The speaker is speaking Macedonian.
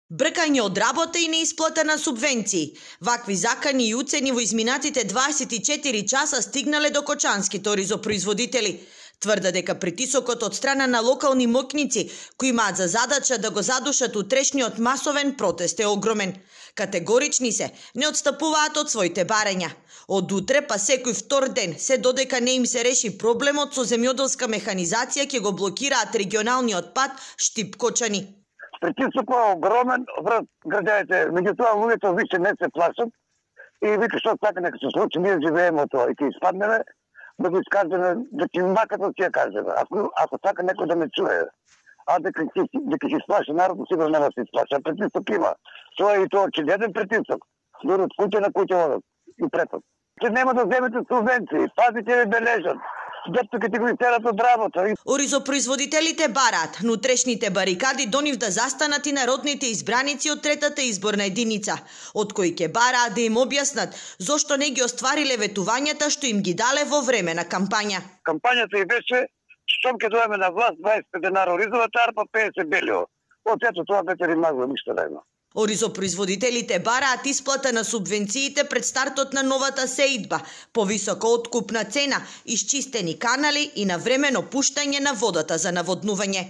Бркање од работа и неисплата на субвенции. Вакви закани и уцени во изминатите 24 часа стигнале до кочанските оризопроизводители. Тврда дека притисокот од страна на локални моќници, кои имаат за задача да го задушат утрешниот масовен протест, е огромен. Категорични се, не отстапуваат од своите барања. Од утре па секој втор ден, се додека не им се реши проблемот со земјоделска механизација, ќе го блокираат регионалниот пат Штип-Кочани. Притисокот е огромен врз граѓаните, меѓутоа луѓето више не се плашат и вика што така нека се случи, ние живееме од тоа и ќе испаднеме да го искажеме, да ќе макат да ќе кажеме, ако така некој да ме чуе. А дека ќе исплаши народот, сигурно нема да се исплаши. Притисок има. Тоа е и тоа очигледен притисок. Дури од куќа на куќа одат и препад. Че нема да земете субвенции, пазите ви бележат. Дето ќе ти го истерат од работа. Оризопроизводителите бараат внутрешните барикади до нив да застанат и народните избраници од третата изборна единица, од кои ќе бараат да им објаснат зошто не ги оствариле ветувањата што им ги дале во време на кампања. Кампањата и беше штом ќе дојдеме на власт 20 денари оризовата арпа, 50 белио. Од ето тоа бете римагло, ништо да има. Оризопроизводителите бараат исплата на субвенциите пред стартот на новата сеидба, повисока откупна цена, исчистени канали и навремено пуштање на водата за наводнување.